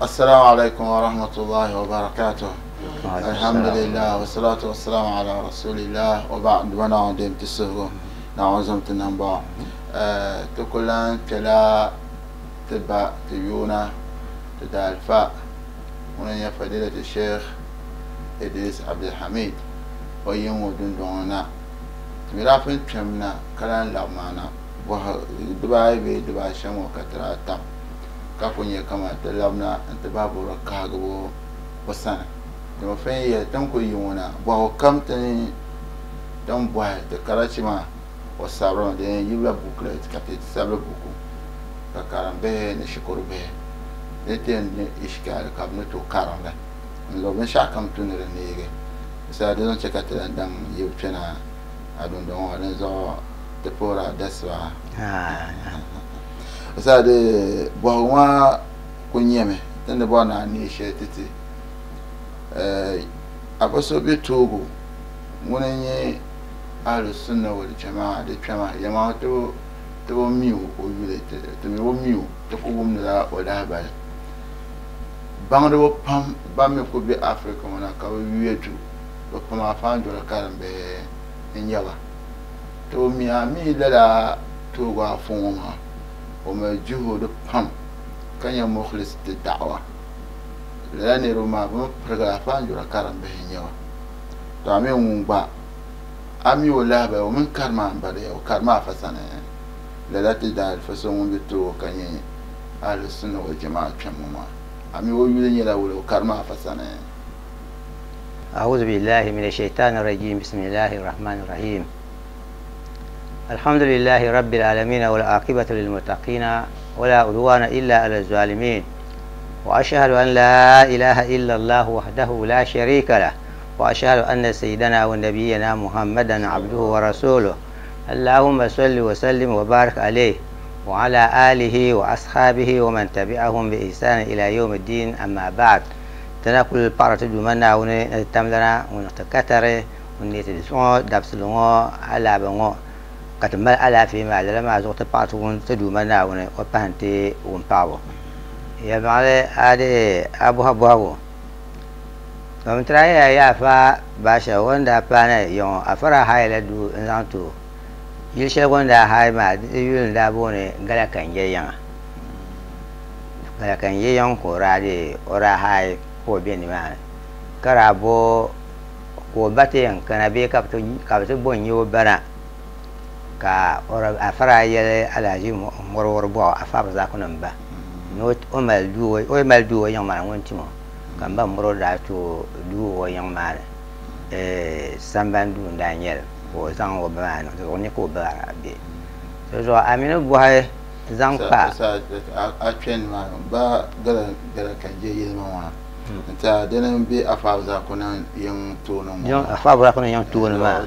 Assalamu alaikum wa rahmatullahi wa barakatuh. Alhamdulillah wa salatu wa salamu ala rasulillah wa ba'd wa na'udim tisuhu na'uzum tinamba. Ti ku lan kpɛla ti ba ti yuuna ti daalifa ŋuni n-nyɛ Fadilati Sheikh Idris Abdulhamid o yiŋ ŋɔ dundɔŋ ni na. Ti mi daa pun kpɛm na ka lan labi maa na bɔhi dibaayi bee dibaashɛm ŋɔ ka ti daa tam ka ku nyɛ kaman ti labina nti bahi bɔri kahigibu o sani. Dama fin yɛli ti ni ku yi ŋɔ na bɔhigu kam ti ni bɔhi ti karachi maa o sabirimi di yɛn yibila booklet ka ti sabili buku ka karimbihi ni shikuru bihi ni ti yɛn nya ishikaali ka bɛ ni tooi karim li n-zuɣu binshɛɣu kam tu ni di neegi. Di saha di zaŋ chɛ ka ti lan daŋ yibu kpɛna a dundɔŋ ŋɔ dinzuɣu ti puhiri a dasiba. Di saha di bɔhigu maa kuli nyɛmi ti ni bɔri ni a neei shɛli ti ti. Afa so be Togo ŋuni n-nyɛ Ahlu Sunna wal Jamaa di kpɛma yɛlimaŋli ti bi mi o yuli ti mi bi mi o ti ku wumdila o lahabali. Baŋdiba pam ban mi kuli be Africa ŋɔ na ka bɛ yuya du bɛ pam Afaandoli karimbihi n-nyɛ ba. Ti bi mi a mi lala Togo afa ŋɔ maa o mali juhudi pam ka nyɛ mukhlis ti da'wa. Lala niriba maa bɛ mi pirigila Afaandoli karimbihi n-nyɛ ba. To a mi ŋun gba a mi o lahabali o mini karima m-bala ya o karima afa sani lala ti daalifa so ŋun be Togo ka nyɛ Ahlu Sunna wal Jamaa kpɛm ŋɔ maa a mi o yuli nyɛla wula o karima afa sani. أعوذ بالله من الشيطان الرجيم بسم الله الرحمن الرحيم الحمد لله رب العالمين والعاقبة للمتقين ولا عدوان إلا على الظالمين وأشهد أن لا إله إلا الله وحده لا شريك له وأشهد أن سيدنا ونبينا محمدا عبده ورسوله اللهم صل وسلم وبارك عليه وعلى آله وأصحابه ومن تبعهم بإحسان إلى يوم الدين أما بعد تناكل بارت دوما ونتملنا ونتكتر ونتسون دبسلون على بنو كتمل على في ما لما زوت بارت ونتدوما وبهنتي ونباو يا بعلي هذه أبو أبو Mam tira ya yaafa baasha o ni daa paai yiŋɔ afara haayila duu n-zaŋ ti o. Yili shɛli o ni daa haai maa di yuli n-daa booni Galakanje yiŋa. Galakanje yiŋ ka o daa deei o daa haai ka o be nimaani ka daa bo ka o ba ti yɛn kana bee ka bɛ ti bo n-nya o ba na ka afara yɛli Alhaji Mɔriwɔri bɔɣu Afa Abdulrazaku ba ni o mali duu o yiŋ maa ni ŋun tim o. Ka m ba mɔri o daa ti o duu o yiŋ maa ni sambani duu n-daa nyɛ li ka o zaŋ o ba maa niŋ di zuɣu ni ka o ba maa be. Di zuɣu a mi ni bɔhi zaŋ kpa. A kpe ni maa ba gala ka je yili maa n-ti a dini m-be Afa Abdulrazaku yiŋ tooni ŋɔ maa. Afa Abdulrazaku yiŋ tooni maa.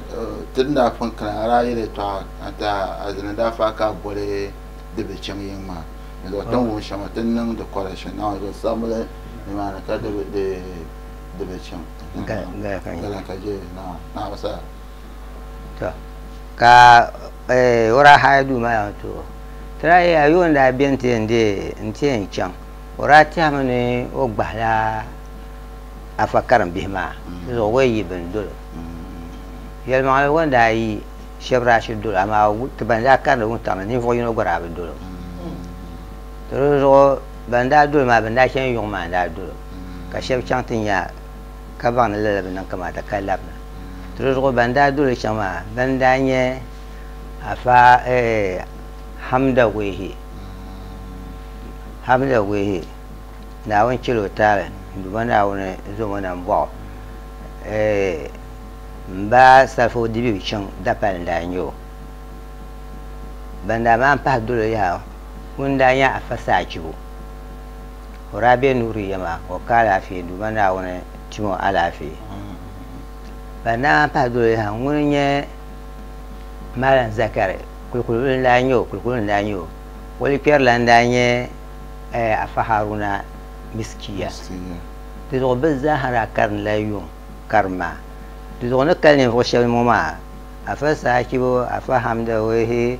Ti ni daa pun kana a daa yɛli yɛltɔɣa n-ti a azini daa faai ka a boli di bi chaŋ yiŋ maa. Di zuɣu ti ni wum shɛm ti ni niŋ di correction Naawuni zuɣu sabimli nimaani ka di bi chaŋ. Gala ka je Naawuni sa. To ka o daa haai duu maa ti o. Ti daa yɛya yuun daa be nti yɛn deei nti yɛn chaŋ o daa tɛhimi ni o gbahila afa karimbihi maa di zuɣu o yi bini dolo. Yɛlimaŋli o ni daa yi shɛba daa shiri dolo amaa ti ban daa karindi wuntaŋ ni ninvuɣ yino gba daa bi dolo. Di zuɣu ban daa dolo maa ban daa chani yuŋ maa n-daa dolo ka shɛba chaŋ ti nya ka baŋ ni lala bi niŋ kamaata ka labina. Di zuɣu ban daa dolo chaŋ maa ban daa nyɛ Afa Hamda Wehi. Hamda Wehi Naawuni chɛla o taali n-duuma Naawuni zom o na m-bɔɣu m-ba Salifu Dibibi chaŋ dapali n-daa nyɛ o. Ban daa maan pahi dolo yaha ŋun daa nyɛ Afa Saachibu. O daa be Nuuriya maa o ka alaafee Duuma Naawuni tim o alaafee. Ban daa maan pahi dolo yaha ŋun nyɛ Malam Zakari Kulikuli n-daa nyɛ o Kulikuli n-daa nyɛ o. O likpɛrila n-daa nyɛ Afa Haruna Miskiya. Di zuɣu bɛ zaaha daa karinila yuŋ karim maa. Di zuɣu ni kali ninvuɣ shɛba ŋɔ maa Afa Saachibu, Afa Hamda Wehi,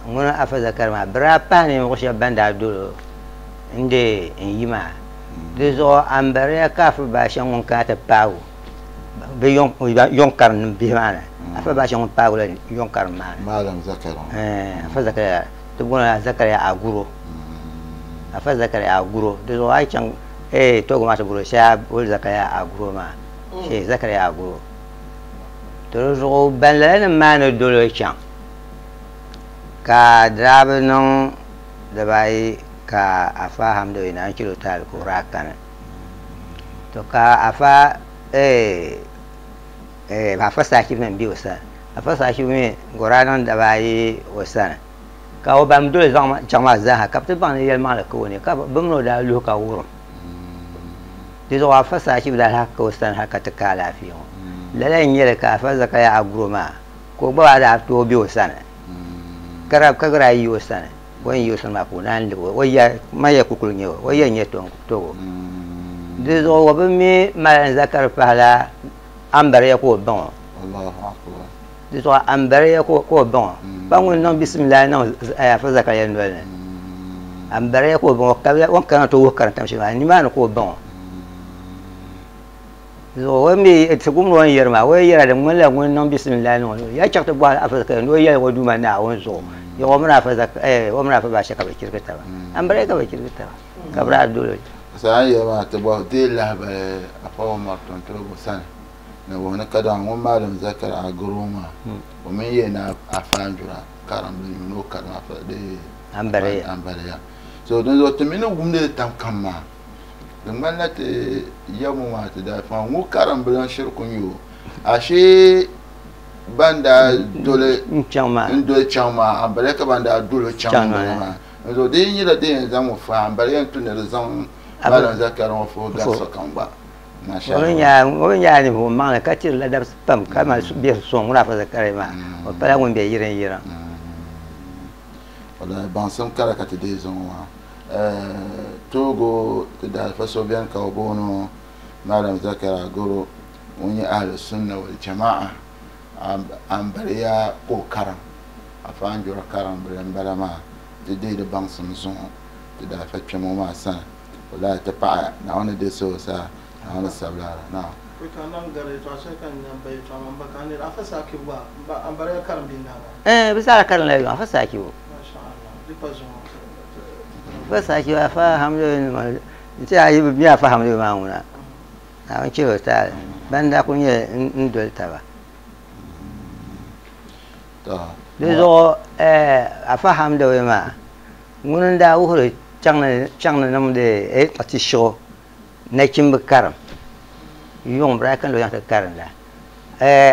ŋuni Afa Zakari maa bɛ daa pahi ninvuɣ shɛba ban daa dolo n-deei n-yi maa. Di zuɣu ambariya ka afa baasha ŋun kana ti paagu bɛ yɔŋ karim bihi maa ni. Afa baasha ŋun paagu la yɔŋ karim maa ni. Malam Zakari. Afa Zakariya ti booni Zakariya Aguro. Afa Zakariya Aguro. Di zuɣu a yi chaŋ Togo maa ti bolo shee boli Zakariya Aguro maa. Shee Zakariya Aguro. To di zuɣu ban lala nim maa ni doli o chaŋ ka di daa bi niŋ dibaayi ka afa Hamdu naan chɛl o taali ka o daa kani. To ka afa afa Sachibu mi m-be o sani. Afa Sachibu mi ka o daa niŋ dibaayi o sani ka o ban doli chaŋ maa zaaha ka bɛ ti baŋ ni yɛlimaŋli ka o ni ka bɛ mini o daa luhi ka wurim. Di zuɣu afa Sachibu daa lahi ka o sani hali ka ti ka alaafee ŋɔ. Lala n-nyɛ li ka afa Zakariya Aguro maa ka o gba daa tooi be o sani ka gba daa yi o sani. O ni yi o sani maa ka o naan lib o, o ya man ya kukuli nyɛ o, o ya nyɛ Togo. Di zuɣu o bi mi Malam Zakari pahila ambariya ka o baŋ o. Di zuɣu ambariya ka o baŋ o. Pa ŋun niŋ bisimilahi niŋ Afa Zakariya noli ni. Ambariya ka o baŋ o, kabila o ni kana ti wuhi karintam shɛli maa, nimaani ka o baŋ o. Di zuɣu o mi ti gumdi o ni yɛri maa, o yi yɛra di ŋmanila ŋun niŋ bisimilahi niŋ o noli. Ya chaŋ ti bɔhi Afa Zakariya ni o yɛli o Duuma Naawuni zuɣu. Yaɣa o mini Afa o mini Afa Baasha ka bɛ chirigi taba. Ambariya ka bɛ chirigi taba ka bɛ daa doli o. Saha yɛli maa ti bɔhi deei lahibali Afa Umar Tunturigu sani ni wuhi ni kadama ŋun Malam Zakari Aguro maa o mini yɛli ni Afa Anjura karimli yuuni o karim Afa dee Ambariya. Ambariya. So dinzuɣu ti mi ni wumdi li tam kam maa di ŋmanila ti yɛbu maa ti daa faŋ ŋɔ karimbila n-shiri ku nyɛ o. Ashee ban daa doli n doli chaŋ maa ambariya ka ban daa doli chaŋ Chaŋ maa. Dinzuɣu di yi nyɛla din yɛn zaŋ ŋɔ fa ambariya n-tu ni di zaŋ Malam Zakari ŋɔ fa o gari sokam gba. Masha Allah. O mi nyɛla ninvuɣ maŋli ka tiri ladabsi pam ka mali biɛhi suŋ ŋuna Afa Zakari maa. O pala ŋun be yiriŋ yiriŋ. Wallahi baŋsim kara ka ti deei zuŋɔ maa. Togo ti daalifa so beni ka o booni o Malam Zakari Agoro ŋun nyɛ Ahlu Sunna wal Jama'a ambariya ka o karim Afa Anjura karimbili m-bala maa ti deei di baŋsim zuŋɔ ti daalifa kpɛma ŋɔ maa sani. Wallahi ti paɣaya Naawuni deei so saa Naawuni sabila naam. Bɛ zaa karimla yuŋ Afa Sachibu. Afa Sachibu Afa Hamdu n-ti a yi bi mi Afa Hamdu maa ŋuna Naawuni chɛ o taali ban daa kuli nyɛ n doli taba. Di zuɣu Afa Hamdu maa ŋuni n-daa wuhiri chaŋ ni niŋdi ti shiɣu nachimbi karim yuŋ bɛ daa kana o ti karinda.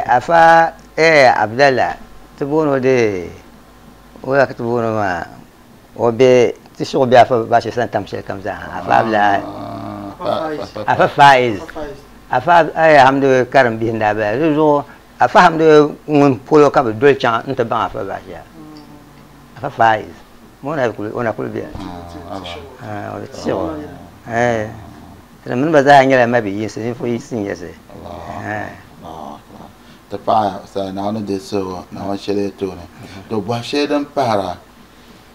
Afa Abdallah ti booni o dee o ka ti booni o maa o be ti shiɣu be Afa Bashi sani tam shɛli kam zaa Afa Abdallah Afa Faiz Afa Hamdu karim bihi n-daa bala. Di zuɣu Afa Hamdu ŋun polo ka bɛ doli chaŋ nti baŋ Afa Bashi Afa Faiz o na kuli beni o ti shiɣu Ti mini ba zaa nyɛla mabi yinsi, ninvuɣ yinsi n-nyɛ si. Ti paɣa sa Naawuni deei suhigu, Naawuni shɛli yi tooni. To bɔhi shɛli din pahira,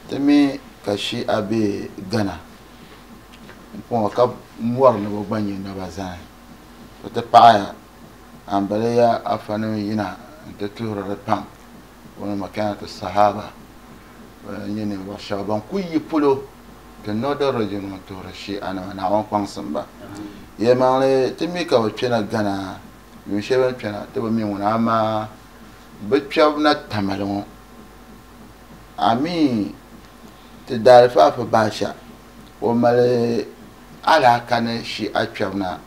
ti mi ka Shia be Ghana m-pɔŋɔ ka mɔri ni bɛ gba nyɛ naba zani. To ti paɣaya ambaliya afanim yina nti tuhiri di pam wani makanatu sahaba n-nyɛ ninvuɣ shɛba ban kuli yi polo ti Northern Region ŋɔ tuhiri Shia nima Naawuni kpaŋsim ba. Yɛlimaŋli ti mi ka bɛ kpɛna Ghana yuun shɛli bɛ ni kpɛna ti bi mi ŋuna amaa bɛ kpɛbu na Tamale ŋɔ a mi ti daalifa Afa Baasha o mali alaaka ni Shia kpɛbu na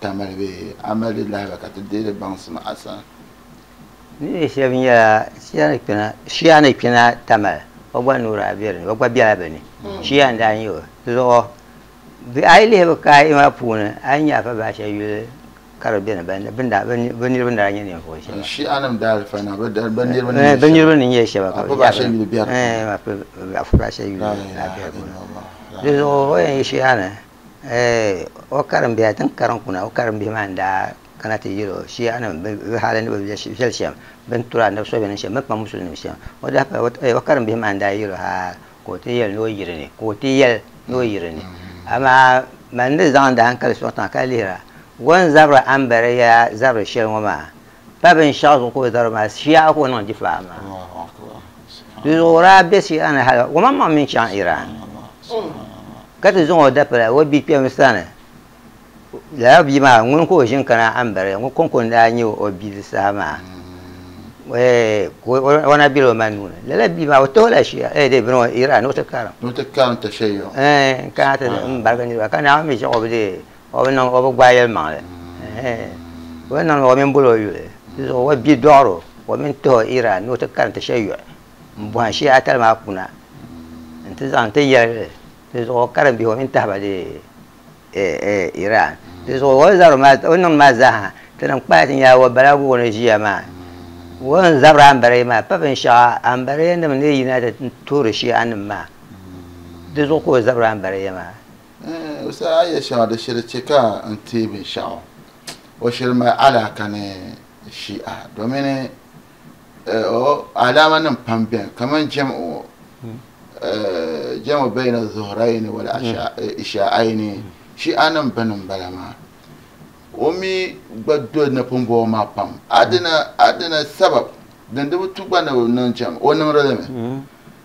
Tamale bee a mali di lahiba ka ti deei di baŋsim a sani. Ni shɛba nyɛla Shia ni kpɛna Tamale o gba nuuri a be di ni o gba bela bɛ ni Shia n-daa nyɛ o di zuɣu a yi lihi bɛ kaai maa puuni a yi nya Afa Baasha yuli ka di beni bɛ niriba ni daa nyɛ ninvuɣ shɛba. Shia-nim daalifa na bɛ niriba ni Bɛ niriba ni nyɛ shɛba ka Afa Baasha yuli be di puuni. Afa Baasha yuli daa be di puuni. Di zuɣu o yɛn yi Shia ni o karim bihi ti ni karim kuna o karim bihi maa n-daa kana ti yɛl o Shia-nim bɛ hali ni bɛ viɛli shɛm, bɛ ni turi anabi sɔbinim shɛm, bɛ ni kpaŋ musulinim shɛm. O daa pa o karim bihi maa n-daa yɛl o hali ka o ti yɛli ni o yiri ni, ka o ti yɛli ni o yiri ni. Amaa Man ni zaŋdi hankali sɔŋ tiŋa ka lihira, o ni zabiri ambariya zabiri shɛli ŋɔ maa, pa binshɛɣu zuɣu ka o zabiri maa, shii'a ka o niŋ difaa maa. Di zuɣu o daa be shii'a ni hali o maŋmaŋ mini chaŋ Iran ka ti zaŋ o dapala o bia kpɛm sani. Lala bia maa ŋuni ka o ʒini kana ambariya ŋɔ kɔŋko n-daa nyɛ o bia di saha maa. O na bela o ma nuu ni. Lala bia maa o tahi o la shii'a, eh, bini ŋɔ Iran ni o ti karim. Ni o ti karim tashayyu. Eh, n-kana ti m-barigi niriba ka Naawuni mi chaŋ o bi deei, o bi niŋ, o bi gbaai yɛlimaŋli. O ni niŋ o mini boli o yuli. Di zuɣu o bia dɔɣiri o, o mini tahi o Iran ni o ti karim tashayyu m-bɔhim shii'a tali maa kuna nti zaŋ ti yɛli li. Di zuɣu o karim bihi o mini tahi ba deei Iran. Di zuɣu o zabiri maa, o niŋ maa zaaha, ti niŋ kpaya ti nyɛla o bala o ni ʒiya maa. O ni zabiri ambariya maa, pa binshɛɣu ambariya nim ni yina ti tuhiri Shia nim maa. Di zuɣu ka o zabiri ambariya maa. O saha a yɛli shɛŋa di shiri chɛ ka n teei binshɛɣu. O shiri mali alaaka ni Shia domini alaama nim pam beni kamani jam'u jam'u bayna zuhurayni wal isha'ayni Shi'a nim bini n bala maa. O mi gba doli napumbɔŋɔ maa pam. Adina adina sabab din di bi tu gba ni bi niŋ jam o niŋdi li mi.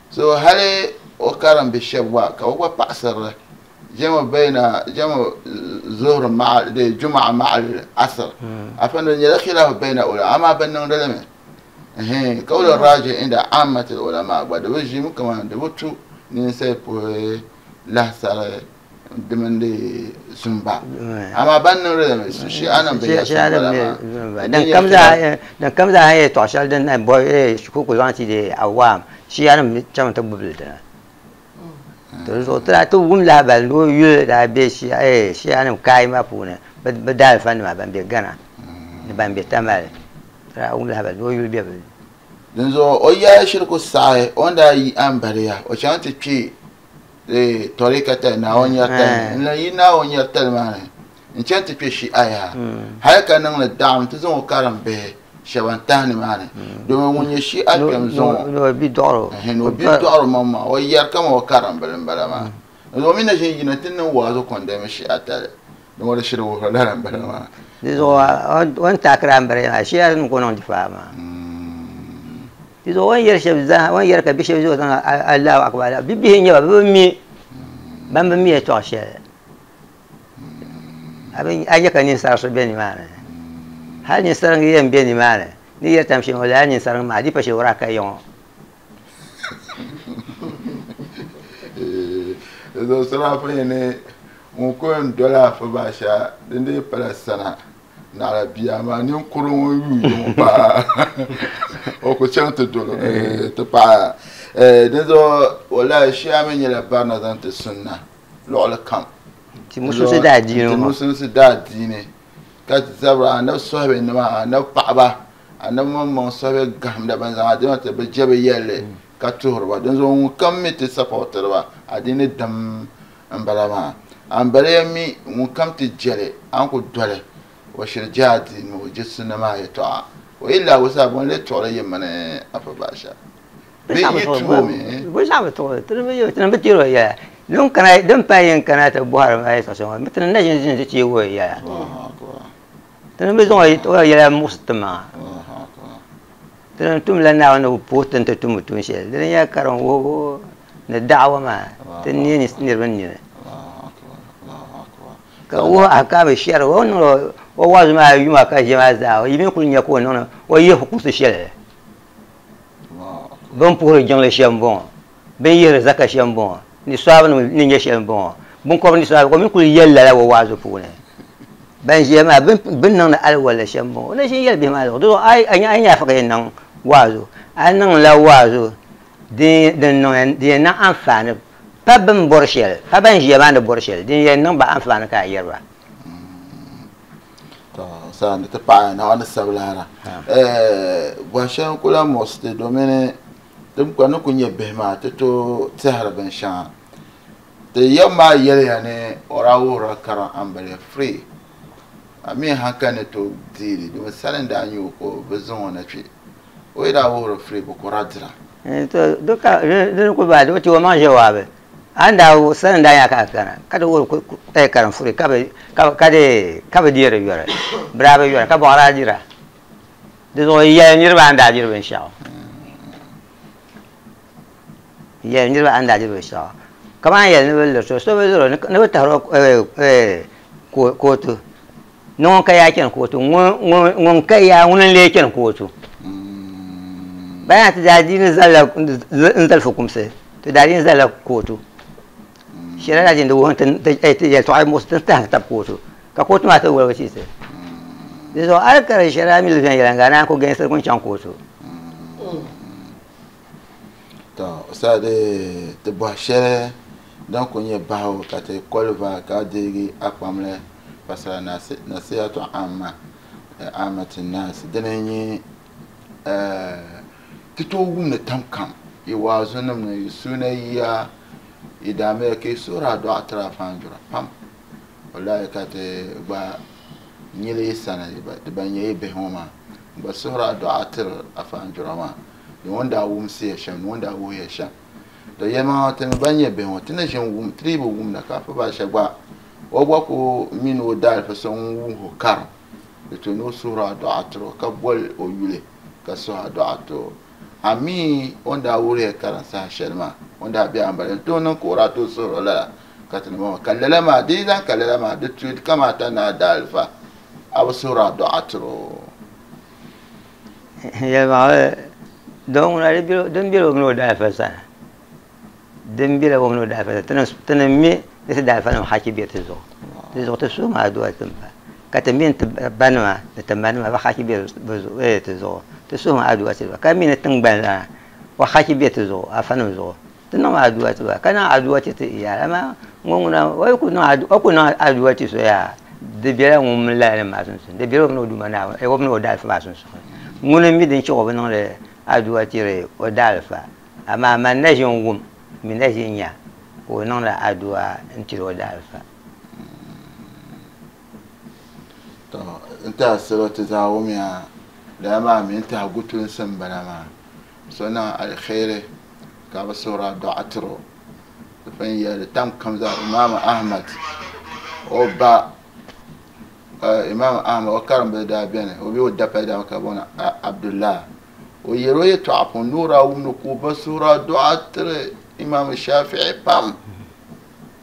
So hali o karim bi shɛba gba ka o gba paɣasirili jam'u bayna jam'u zuhuri ma'a de juma'a ma'al asr. Afa di nyɛla khilaaf bayna ulama amaa bi niŋdi li mi. Qawlu raji inda ammati ulama gba di bi ʒimi kaman di bi tu ninsali puhi lahisari di mini di zumba. Amaa ban niŋdi li mi Shia nim bi yɛli bala maa. Din kam zaa din kam zaa yɛltɔɣa shɛli din na bɔhi shikuru ku zaŋ ti di awaam Shia nim chaŋ ti gbubi li dina. To di zuɣu ti daa ti wum lahabali ni o yuli daa be Shia nim kaai maa puuni bi daalifa nima ban be Ghana ni ban be Tamale. Ti daa wum lahabali ni o yuli be bi ni. Dinzuɣu o yɛla shiri ku saɣi o ni daa yi ambaliya o chaŋ ti kpe tɔrika tali Naawuni nyɛri tali ni n lan yi Naawuni nyɛri tali maa ni n-chaŋ ti kpe Shi'a yaha hali ka niŋ li daɣim ti zaŋ o karim bihi shɛba n-tahi nimaani domi ŋun nyɛ Shi'a kpɛm zuŋɔ ni o bi dɔɣiri o. Ni o bi dɔɣiri o maŋmaŋ o yɛri kaman o karim bili m-bala maa. Dinzuɣu o mi na ʒin yina ti niŋ waazu kɔndami Shi'a tali ni o di shiri wuhiri lala m-bala maa. Di zuɣu o ni taakiri ambariya maa Shi'a nim ka o niŋ difaa maa. Di zuɣu o ni yɛri shɛba zaa, o ni yɛri ka bi shɛba zuɣu zaŋ Allahu Akbar Allahu, bibihi n-nyɛ ba, bɛ bi mi, ban bi mi yɛltɔɣa shɛli. A nya ka ninsarisi be nimaani. Hali ninsariŋ yɛn be nimaani, ni yɛri tam shɛm ŋɔ, lala ninsariŋ maa di pa shɛli o daa ka ya ŋɔ. Di zuɣu sarafa yi ni ŋun ku yɛn doli a Fubasha din dii pala sana naɣila bia amaa ninkuri ŋun yuui ŋɔ paa o ku chaŋ ti doli ti paɣa. Dinzuɣu walahi shia mi nyɛla barina zaŋ ti sunna luɣili kam. Ti musulinsi daa diini ŋɔ. Ti musulinsi daa diini ka zabiri anabi sɔhibe nima anabi paɣaba anabi maŋmaŋ sɔhibe gahimda ban zaŋ adiini ti bi je bi yɛlli ka tuhiri ba. Dinzuɣu ŋun kam mi ti sapɔtiri ba adiini dim n bala maa. Ambaliya mi ŋun kam ti jeli a ni ku doli o shiri je adiini o je sunna maa yɛtɔɣa. O yi lahi wusa bɔ n-lee tuɣili yi mini Afa Baasha? Bɛ yi tuhi o mi? Bɛ zaŋ bi tuɣili. Ti ni bi tiri o yɛla. Din kana, din pahi yɛn kana ti bɔhiri ma yɛtɔɣa shɛŋa ŋɔ, ti ni na ʒini ʒini ti teegi o yɛla. Ti ni bi zaŋ o yɛla muɣisi ti maŋa. Ti ni tumla Naawuni ni bi puhi ti ni ti tum tuun shɛli. Di ni nyɛla karim wuhibu ni da'awa maa ti neei niriba nini. Ka wuhi ahkaami shɛri o ni niŋdi o waazu maa yuma ka ʒiya maa zaa, yi mi kuli nya ka o niŋdi o yihi fukumsi shɛli. Bɛ ni puhiri jiŋli shɛm m-bɔŋɔ, bɛ ni yihiri zaka shɛm m-bɔŋɔ, ni sɔhibinim ni nyɛ shɛli m-bɔŋɔ, biŋkɔbiri ni sɔhibi, ka o mi kuli yɛli lala o waazu puuni. Ban ʒiya maa, bɛ ni niŋdi alwala shɛm m-bɔŋɔ. O na ʒin yɛli bihi maa zuɣu. Di zuɣu a nya afa ka yɛn niŋ waazu, a niŋla waazu din yɛn niŋ anfaani pa bɛ ni bɔri shɛli, pa ban ʒiya maa ni bɔri shɛli, din yɛn niŋ ba anfaani ka a yɛri ba. To sani ti paɣa Naawuni sabilahara bɔhi shɛli n ku lahi muɣisi ti domini ti gba ni ku nyɛ bihi maa ti tooi tɛhiri binshɛŋa. Ti yɛm maa yɛliya ni o daa wuhirila karim ambaliya free a mi hankali ni tooi deei li domi sali n daa nyɛ o ka bɛ zaŋ o na kpe o yi daa wuhiri free bɛ ku daa dira. To di ka di ni ku baai di bi ti o maŋ ʒe waabi. Anda san da ya ka kana ka da wuri kai karan fure ka ka de ka bi dira yora braba yora ka bora dira de zo ya nirba anda dira ben shaw ya nirba anda dira ben shaw kama ya ne bel so so be zoro ne be taro ko ko to non ka ya ken ko to ngon ka ya ngun le ken ko to bayan ta daji ne zalla nzal fukumse to daji zalla ko to shira jin da won tan ta ya to ai musu ta ta koto ka koto ma ta wala ci sai so alkar shira mi lu yan ga na ko gan sai kun can koto to sade te bo shere dan ko nye bawo ka te kolva ka degi akpamle pasara na nasihatu amma amatin nas dinenyi tito wumne tamkam i wazunum ne sunayya idame ke sura do atra fanjura pam wallahi ka te ba nyile sana ba ba nye be homa ba sura do atra afanjura ma ni wonda wumsi ya sham ni wonda wo ya sham to yema te ba nye be ho tine jin wum tribu wum na ka fa ba shagba o gba ko min o dal fa son wum ho kar to no sura do atra ka bol o yule ka sura do atro ami wanda wuri ya karansa shelma wanda bi ambare to nan kora to soro la katin ma kallala ma dai zan kallala ma duk tu kamata na dalfa abu sura do atro ya ma don na biro don biro no dalfa sa don biro no dalfa tan tan mi da dalfa no haki bi ta zo ta zo ta su ma do tun ba katamin banma da ba haki bi ta zo تسوهم عدوات الوا كمين تنبلا وخاكي بيت زو أفنم زو تنم عدوات الوا كان عدوات يا أما ngona ويكون عدو أكون عدوات سويا دبيرة وملا ما سنسن دبيرة من ودو منا أو من ودالف ما سنسن ngona ميدن شو بنون عدوات ري ودالف أما ما نجم وم من نجم يا ونون عدوا أنت ودالف تو أنت سلوت زاوميا da ma min ta gutun san bana ma sona alkhairi ka ba sura du'atro fan ya tam kam za imam ahmad o ba imam ahmad o karam da bene o bi o da pa da ka bona abdullah o yero ye to apon nura wumnu ko ba sura du'atro imam shafi'i pam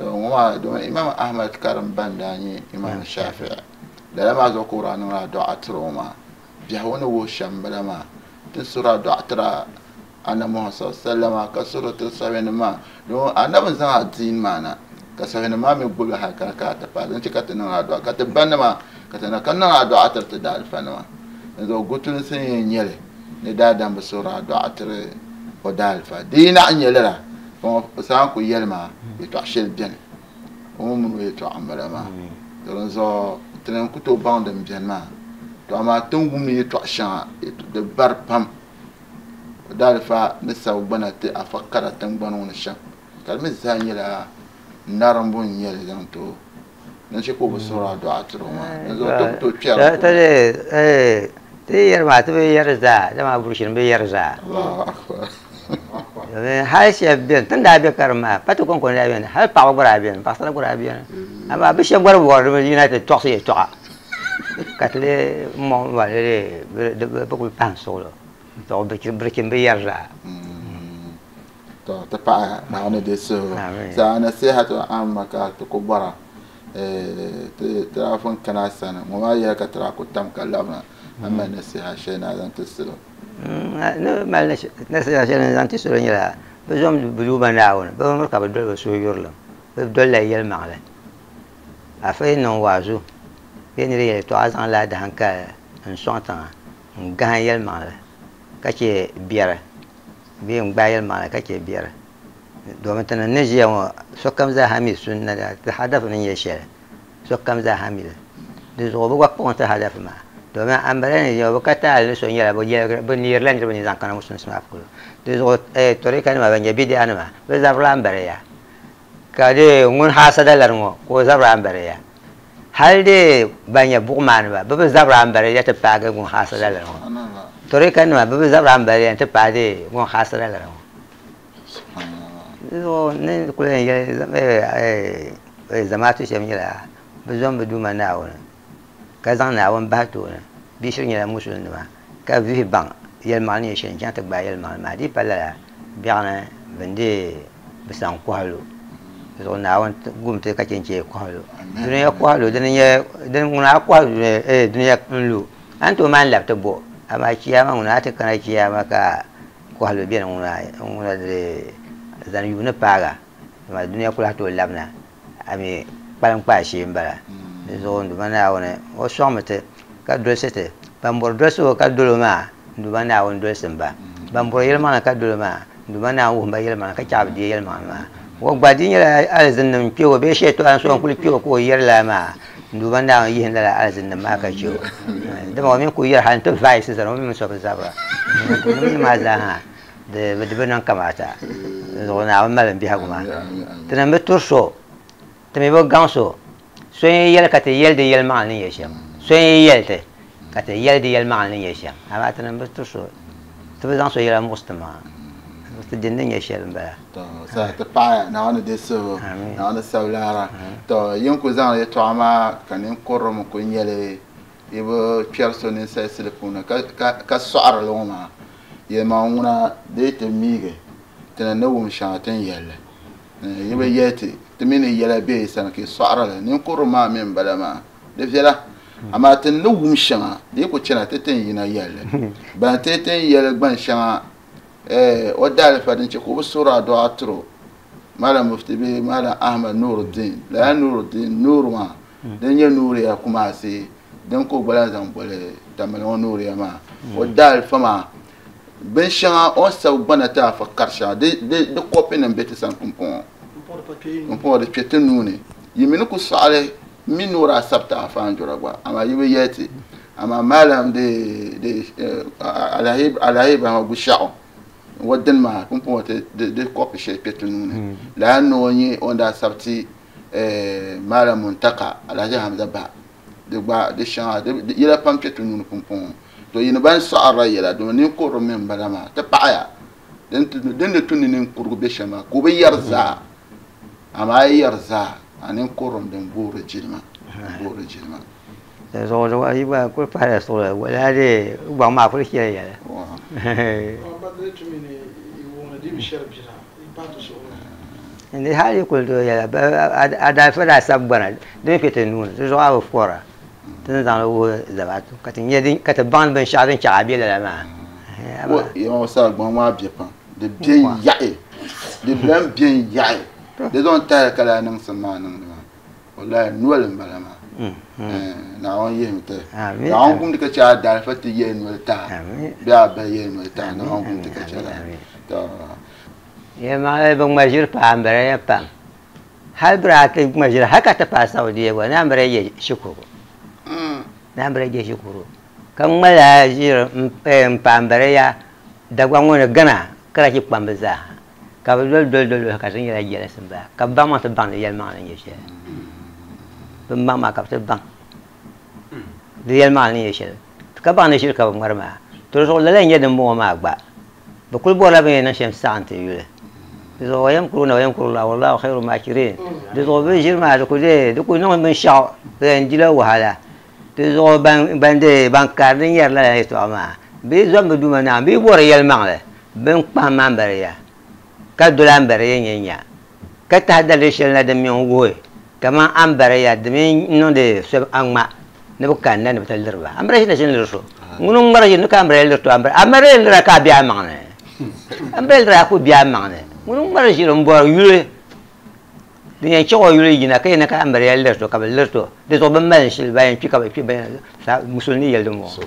o ma do imam ahmad karam bandani imam shafi'i da ma zo qur'an ra du'atro ma biya wo shambala ma tin sura du'atra annabi Muhammad sallallahu ka suratul sabin ma don annabi zan addin mana ka sabin ma mai gobe haka ka ta fa don cika tin addu'a ka ta banna ma ka ta kan nan addu'a ta ta da alfana ma yanzu gutun sun yin yele ne da dan ba sura du'atra o da alfa dina an yelera ko san ku yelma ya to shel bien o mun ya to amara ma don zo tin ku to bandem bien ma to amma tun gumi ya to shan da bar pam dalfa ni sagbana ti a fakara tingbani ŋuni shɛm ka di mi zaa nyɛla narimbu n nyɛli zaŋ ti o ni chɛ ka o bi suhuri a dɔɣa tiri o maa di zuɣu ti ku tooi kpɛri ti yɛri maa ti bi yɛri zaa dama burushini bi yɛri zaa hali shɛba beni tin daa be karim maa pa ti kɔŋko ni daa beni hali paɣaba gba daa beni paɣasara gba daa beni amaa bi shɛba gba di bɔri di yina ti tɔɣisi yɛltɔɣa ka ti lee mɔŋ ba bi kuli pahi suɣulo to birkin bi yɛri zaa to ti paɣa Naawuni di suhigu saa nasihatu amma ka ti ku bɔra ti daa pun kana sani ŋɔ maa yɛli ka ti daa ku tam ka labina amma nasiha shɛli na zaŋ ti salo ni mali nasiha shɛli zaŋ ti salo nyɛla bi zom bi duuma Naawuni bi miri ka bi doli bi suhu yurilim bi dolila yɛlimaŋli afa yi niŋ waazu bee ni di yɛltɔɣa zaŋ la dahankali n sɔŋ tiŋa n gahi yɛlimaŋli ka chɛ biɛri bee n gbaai yɛlimaŋli ka chɛ biɛri domin ti ni ʒiya ŋɔ sokam zaa ha mi sunna ti hadafi ni nyɛ shɛli sokam zaa ha mi li di zuɣu bi gba kpuɣi ti hadafi maa domin ambala ni ʒiya bi ka taali ni so nyɛla bi neerila niriba ni zaŋ kana musulinsi maa polo di zuɣu torika nima ban nyɛ bidiya nima bi zabirila ambaliya ka di ŋun haasada lari ŋɔ ka o zabiri ambaliya hali di ban nyɛ buɣumaaniba bi bi zabiri ambaliya ti paagi ŋun haasada lari ŋɔ torika nima bi bi zabiri ambaliya ti paagi ŋun haasada lari ŋɔ Ni kuli yɛn yɛli zamaatu shɛm nyɛla bɛ zom bɛ Duuma Naawuni ka zaŋ Naawuni bahi tooni. Bɛ shiri nyɛla musulinima ka vihi baŋ yɛlimaŋli ni nyɛ shɛli n-chaŋ ti gbaai yɛlimaŋli maa. Di yi pa lala, biɛɣuni bɛ ni deei bɛ saŋ kɔhi lu. Di zuɣu Naawuni gum ti ka chɛ n-chɛ kɔhi lu. Dunia kɔhi lu, dini n-nyɛ din ŋuna a kɔhi dunia n-lu, a ni tooi maan labi ti bo. Amaa chiyaama ŋuna a ti kana chiyaama ka kɔhilu beni ŋuna di zani yuuni paaga, amaa dunia ku lahi tooi labina, a mi kpalim kpaai shee m-bala. Di zuɣu n Duuma Naawuni, o sɔŋmi ti ka dolisi ti. Ban bɔri dolisi o ka dol o maa, n Duuma Naawuni dolisim ba. Ban bɔri yɛlimaŋli ka dol o maa, n Duuma Naawuni wuhim ba yɛlimaŋli ka chaɣi bɛ deei yɛlimaŋli maa. O gba di nyɛla alizinnim n-kpe o bee shɛtɔɣa n-so n-kuli kpe o ka o yɛri lala maa, n Duuma Naawuni yihim lala alizinnim maa ka chɛ o. Dama o mi ku yɛri hal nti vaai Siza o mi mini so bi zabira. Di maa zaa ha di bi niŋ kamaata. Dinzuɣu Naawuni mali m biɛhigu maa. Ti ni bi turi so, ti mi bi gaŋ so. So n-yi yɛli ka ti yɛli di yɛlimaŋli ni nyɛ shɛm. So n-yi yɛli ti ka ti yɛli di yɛlimaŋli ni nyɛ shɛm. Amaa ti ni bi turi so, ti bi zaŋ so yɛla muɣisi ti maŋa. Ti dini ni nyɛ shɛli m-bala. To saha ti paɣiya Naawuni di suhu, Naawuni sabi laara. To yin ku zaŋ yɛtɔɣa maa ka ninkurili mi kuli nyɛ li yi bi kpɛri so ninsalisili puuni ka sɔɣiri li ŋɔ maa, yɛlimaŋli ŋuna di yi ti miigi ti ni ni wum shɛŋa ti ni yɛli li. Yi bi yɛli ti, ti mi ni yɛla be yi sani ka yi sɔɣiri li. Ninkurili maa mi m-bala maa, di viɛla. Amaa ti ni wum shɛŋa di yi ku chana ti ti ni yina yɛli li. Ban ti ti ni yɛli gban shɛŋa o daalifa din chɛ ka o bi suhiri adua tiri o, Malam Mufti bee Malam Ahmad Nuruddin, lala Nuruddin, Nuur maa, din nyɛ Nuuriya Kumasi din ka o gba lahi zaŋ boli Tamale ŋɔ Nuuriya maa, o daalifa maa binshɛŋa o ni sabi gbana ti afa kari shɛŋa di kɔpinima be ti sani pumpɔŋɔ, pumpɔŋɔ di kpe ti nuu ni. Yi mi ni ku sɔɣili m mi ni o daa sabi ti afa Anjura gba, amaa yi bi yɛli ti. Amaa Malam di di Alhaji Ibrahima Gushiɛɣu o dini maa pumpɔŋɔ ti di kɔpi shɛli kpe ti nuu ni. Lala ni o nyɛ o ni daa sabi ti Malam Muntaka Alhaji Hamza Ba di gba di shɛŋa di yɛla pam kpe ti nuu ni pumpɔŋɔ. To yi ni ban sɔɣirila yɛla domi ninkurili mi m-bala maa ti paɣiya din ni tu ni ninkurigu be shɛm maa ka o bi yɛri zaa. Amaa a yi yɛri zaa a ninkurim din boori jilima, boori jilima. Zuɣu zuɣu yi gba kuli pahila suɣuli wala di gbaŋ maa kuli chɛli yɛla. Ni hali yi kuli tooi yɛla a daalifa daa sabi gbana di mi kpe ti nuu ni di zuɣu a bi fɔra ti ni zaŋli wuhi zamaatu ka ti nya ka ti baŋ binshɛɣu din chaɣ a be lala maa. Yɛma sabi gbaŋ maa be pam di be n-yaɣi di lan be n-yaɣi di zaŋ tahili ka lahi niŋsim maa niŋdi maa. Wallahi noli n bala maa. Naawuni yihimi ti. Naawuni gumdi ka chɛ a daalifa ti yɛli noli taha. Bee a bahi yɛli noli taha. Naawuni gumdi ka chɛ la. To. Yɛlimaŋli bi ŋma ʒiri paai m-bala ya pam. Hali bɛ daa ti ŋma ʒiri hali ka ti paai Saudiya gba naan bɛ daa je shikuru. Naan bɛ daa je shikuru. Ka ŋma lala ʒiri m-paai m-bala ya Dagbaŋ ŋɔ ni Ghana karachi kpamba zaa. Ka bɛ doli doli doli doli ka di nyɛla jɛlisi m-bala ka bɛ baŋ maa ti baŋ di yɛlimaŋli ni nyɛ shɛli. Bɛ baŋ maa ka bɛ ti baŋ di yɛlimaŋli ni nyɛ shɛli ka baŋ ni ʒiri ka bɛ ŋmari maa. To di zuɣu lala n-nyɛ dimbɔŋɔ maa gba. Bɛ kuli bɔrila bɛ ni yɛn niŋ shɛm saɣim ti yuli. Di zuɣu wayamkuruuna wayamkurullahi wallahu khairu makirin. Di zuɣu bɛ ʒiri maa di ku dee di ku niŋ binshɛɣu bɛ yɛn dila wahala. Di zuɣu ban dee ban kari din yɛri lala yɛtɔɣa maa bɛ yi zom bɛ Duuma Naawuni bɛ yi bɔri yɛlimaŋli bɛ ni kpahim ambariya ka doli ambariya nya nya ka tahi daliri shɛli na din mi n-wuhi kaman ambariya di mi niŋdi so a ŋma ni bɛ kanna ni bɛ ti liri ba. Ambariya shɛli na ʒini liri so. Ŋuni n-ŋmari ʒini ni ka ambariya liri to ambariya lira ka a be a maŋ ni. Ambariya lira a ku be a maŋ ni. Ŋuni n-ŋmari ʒiri m-bɔri yuli din yɛn chɛ o yuli yina ka yɛn ka ambariya liri to ka bɛ liri to. Di zuɣu bɛ mali shili ban yɛn kpi ka bɛ kpi ban musulini yɛli din bɔŋɔ.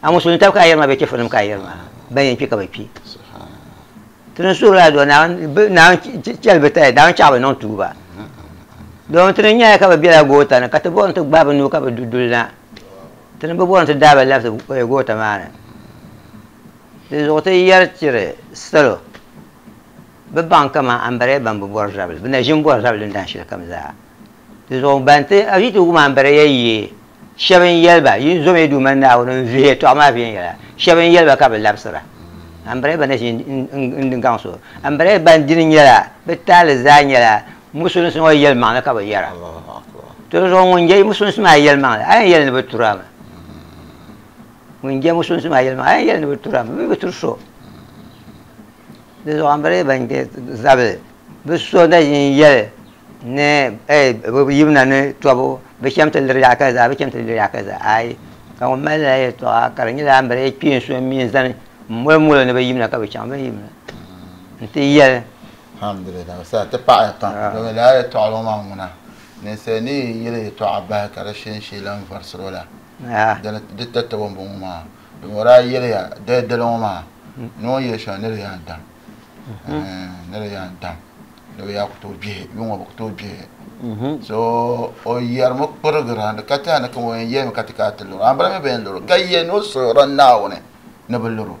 A musulini taba ka a yɛri maa bee chɛfurinim ka a yɛri maa ban yɛn kpi ka bɛ kpi. Ti ni suhiri a dua Naawuni chɛli bɛ taya Naawuni chaɣ bɛ niŋ tuuba. Domin ti ni nyaya ka bɛ bela goota ni ka ti bɔri ni ti gbahi bɛ nuu ka bɛ du duli na. Ti ni bi bɔri ni ti daai ba labisi goota maa ni. Di zuɣu ti yɛri tiri salo bɛ baŋ kaman ambariya ban bi bɔri zabili, bɛ na ʒi m-bɔri zabili din dahin shɛli kam zaa. Di zuɣu ban ti a yi ti wum ambariya yee, shɛba n-yɛli ba, Yin zomi yi Duuma Naawuni n-vihi yɛtɔɣa maa viɛnyɛla. Shɛba n-yɛli ba ka bɛ labisira. Ambare ban na ʒi n-gaŋ so. Ambare ban dini nyɛla, bɛ taali zaa nyɛla musulinsi ŋɔ yɛlimaŋli ka bɛ yɛra. To di zuɣu ŋun je musulinsi maa yɛlimaŋli, a yɛn yɛli ni bɛ turi a mi. Ŋun je musulinsi maa yɛlimaŋli, a yɛn yɛli ni bɛ turi a mi, bɛ bi turi so. Di zuɣu ambare ban je zabili, bɛ so na ʒi n-yɛli ni bɛ yimina ni tɔbu, bɛ cham ti liri yaɣa kaza, bɛ cham ti liri yaɣa kaza. Aai, ka ŋun mali lala yɛltɔɣa ka di nyɛla ambare kpeen so m-mi n-zani m-moli molo ni bɛ yimina ka bɛ chaŋ, bɛ ni yimina nti yɛli. Alhamdulillah, sa ti paɣiya pam. Domin lala yɛltɔɣili ŋɔ maa ŋuna, ninsal ni yi yɛli yɛltɔɣa bahi ka di shee n-shee lan varisiri o la, dini di tatabo m-bɔŋɔ maa. Domin o daa yɛliya dali dali ŋɔ maa ni o ni yɛli shɛli ni di yaa dam, ni di yaa dam, ni bɛ yaa ku tooi gbihi, yuŋ ŋɔ bɛ ku tooi gbihi. So o yɛrimi kpurigira ni ka tɛha ni kama o yɛn yɛlimi ka ti kana ti luri o. Ambala mi bi yɛn luri o ka yɛli ni o suhirila Naawuni ni bi luri o.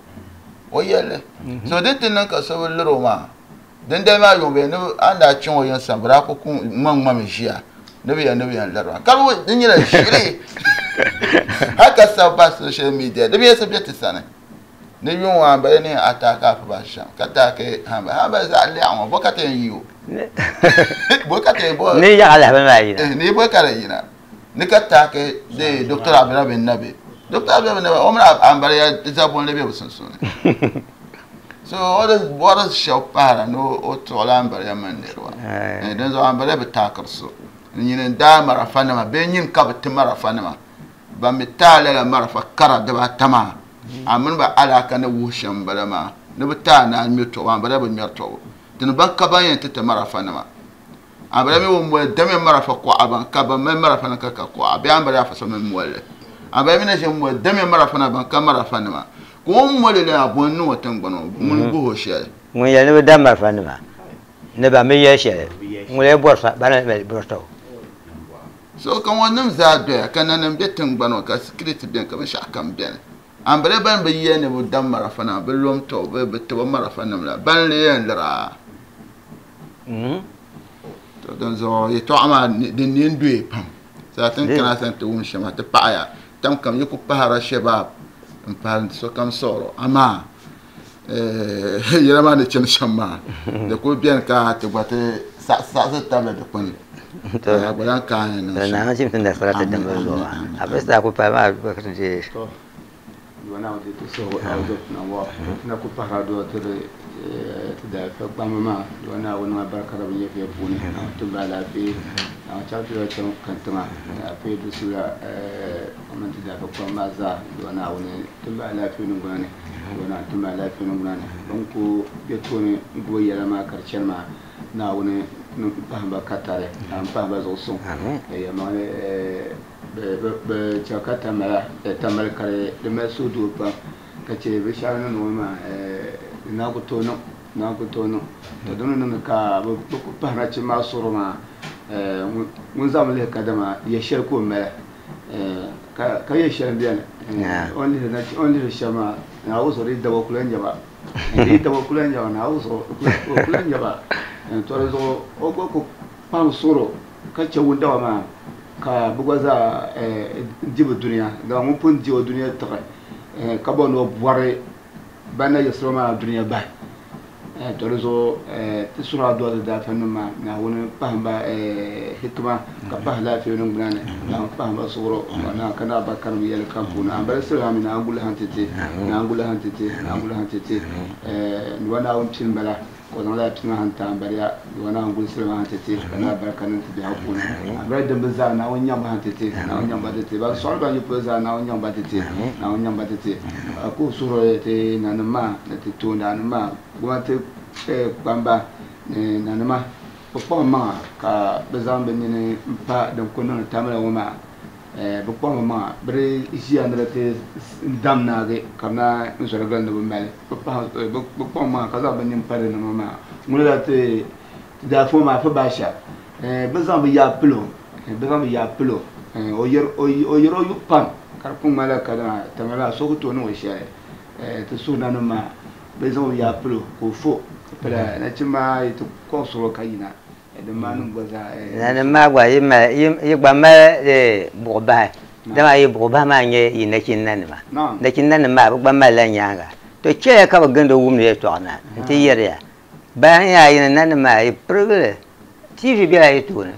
O yɛlli. So di ti niŋ ka so bi luri o maa, dindali maa yuŋ bee ni a ni daa chaŋ o yiŋ sani, bɛ daa ku ŋmaŋŋmami ʒiya ni bɛ yɛn ni bɛ yɛn liri ba. Ka di nyɛla ʒiri hali ka sabi bahi social media, di bi yɛn be ti sani. Ni yuŋ ŋɔ ambala ni yɛn ataaki a ba shɛm ka taaki hambali. Hambali zaɣ lɛɣu ŋɔ, bɔ ka ti yɛn yi o? Bɔ ka ti yɛn bɔ? Ni yaɣa lahabali maa yina. Ni bɔ ka di yina. Ni ka taaki de Doctor Abdullah bin Nabi. Doctor Abdullah bin Nabi, o mini ambala ya zabunli be bɛ sunsuuni. So o di bɔri shɛba pahira ni o tuɣila ambala ya mini niriba. Dinzuɣu ambala bi taakiri so. Nyini n-daa marafa nima bee nyini ka bi ti marafa nima. Ban mi taai lala marafa kara dibaata maa, a mini ba alaaka ni wuhi shɛm m-bala maa, ni bɛ taai naan ŋme tɔbu, ambala bi ŋmɛri tɔbu. Dini ban ka ban yɛn ti ti marafa nima. Ambala mi ŋun moli dami marafa kɔɣa ban ka ban mali marafa nim ka ka kɔɣa bee ambala afa so mi moli li. Ambala mi na ʒi moli dami marafa nima ban ka marafa nima. Ka o ni moli li maa bɔ n-niŋ o tiŋgbani ŋɔ, ŋuni guhi o shɛli. Ŋun yɛli ni bɛ dam marafa nima ni ban bi yɛli shɛli, ŋun lee bɔri sa, bana mi bɔri sa o. So ka ŋɔ nim zaa doya ka nanim be tiŋgbani ŋɔ ka security beni ka binshɛɣu kam beni. Ambala ban bi yɛli ni bɛ dam marafa nima, bɛ lom tɔbu, bɛ tibi marafa nim la, ban lee yɛn liri a. To dinzuɣu yɛtɔɣa maa din ne n-doya pam. Saa ti ni kana sani ti wum shɛm maa ti paɣiya. Tam kam yi ku pahirila shɛbaab m-pahiri sokam siɣiri o. Amaa yɛla maa ni chani shɛm maa di kuli beni ka ti gba ti saɣisi tabili dikpuni. A gba lahi kaai ni niŋ shɛm. Naawuni chim ti nasara ti dimbi zuɣu maa. A bi saa ku pahi maa gba ka ti deei. To, Duuma Naawuni ti suhigu a ti na ku pahira dua ti di ti daalifa kpamba maa. Duuma Naawuni niŋ alibarika di bɛ nyɛviya puuni. Naawuni tim ba alaafee. Naawuni chaŋ ti chaŋ kantiŋa. Alaafee dusuya o mini ti daalifa kpamba maa zaa. Duuma Naawuni tim ba alaafee niŋgbuna ni. Duuma Naawuni tim ba alaafee niŋgbuna ni. Bɛ ni ku be tooni n-gbubi yɛla maa ka di chani maa, Naawuni niŋ pahim ba katari, Naawuni pahim ba zuɣusuŋ. Yɛlimaŋli bɛ chɛ ka Tamale ka di mali suhudoo pam ka chɛ binshɛɣu ni niŋ maa di naan ku tooi niŋ, di naan ku tooi niŋ. To di ni niŋdi ka bɛ ku pahi nachimba maa suhuri maa ŋun zaŋmi lihi kadama ya shɛli ka o mali ka ya shɛli m-beni o ni lihiri shɛm maa Naawuni zuɣu di yi daba o ku lan nya ba, di yi daba o ku lan nya ba Naawuni zuɣu o ku lan nya ba. To di zuɣu o gba ku kpaŋ suhuri ka chɛ wundaba maa ka bɛ gba zaa di bɛ dunia, dama ŋun pun di o dunia tiɣi ka bɔri ni o bɔri ban na yiɣisiri o maa dunia bahi. To di zuɣu ti suhiri a dua ti daafanim maa, Naawuni pahim ba hikima ka pahi laafee niŋgbuna ni, Naawuni pahim ba suɣuro ka naai barikanim yɛli kam puuni. Ambali sili ha mi Naawuni guli ha n-ti ti, Naawuni guli ha n-ti ti, Naawuni guli ha n-ti ti. Duba Naawuni pini bala. Ka o zaŋ lala pini maa n-ti ambaliya, Duuma Naawuni guli sili maa nti ti, ka naai barika niŋ ti biɛhigu puuni. Ambaliya dimbi zaa, Naawuni nyaŋ ba nti ti, Naawuni nyaŋ ba nti ti. Ban sɔɣiri ban yi polo zaa, Naawuni nyaŋ ba nti ti, Naawuni nyaŋ ba nti ti. Ka o suhiri ti nanim maa ni ti toondaannim maa, gomnanti kpamba ni nanima, bɛ kpaŋ maŋa ka bɛ zaŋ bɛ nini m-pa din kuli niŋdi Tamale ŋɔ maa. Bɛ kpaŋ bɛ maŋa bɛ di ʒiya ni di ti dam naagi ka bɛ naan zɔri gili ni bɛ mali. Bɛ kpaŋ maŋa ka zaŋ bɛ nini pa di nima maa. Ŋuni la ti daafo maa Afa Baasha, bɛ zaŋ bɛ yaa pili o, bɛ zaŋ bɛ yaa pili o. O yɛri o yubu pam ka di kuli ŋmanila kadama Tamale maa so ku tooi niŋ o shɛli. Ti suhu nanim maa bɛ zaŋ o yaa pili o ka o fo ka pala nachimba maa yi ti kɔŋ suɣili o ka yina. Nanim maa gba yi gba mali buɣubahi, dama yi buɣubahi maa n-nyɛ yi nachin nanima. Nachin nanim maa bɛ gba malila nyaaŋa. To chɛya ka bi gindi wumdi yɛltɔɣa na n-ti yɛri ya, Bayan ya yi ni nanim maa yi pirigili, TV bela yi tooni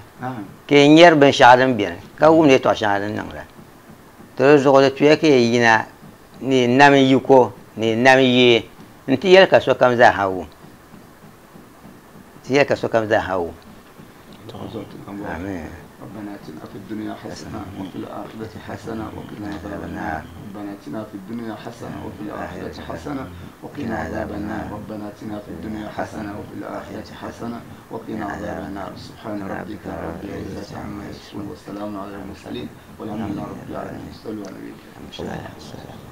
ka yi nyari binshɛɣu din beni ka wumdi yɛltɔɣa shɛŋa din niŋda. To di zuɣu di tuya ka yi yina ni yi nam yiko ni yi nam yee nti yɛli ka sokam zaa ha wum. Ti yɛli ka sokam zaa ha wum. Amin. ربنا اتنا في الدنيا حسنة وفي الآخرة حسنة وقنا عذاب النار. ربنا اتنا في الدنيا حسنة وفي الآخرة حسنة وقنا عذاب النار. ربنا اتنا في الدنيا حسنة وفي الآخرة حسنة وقنا عذاب النار. سبحان ربك رب العزة عما يصفون، والسلام على المرسلين، والحمد لله رب العالمين. صلوا على النبي.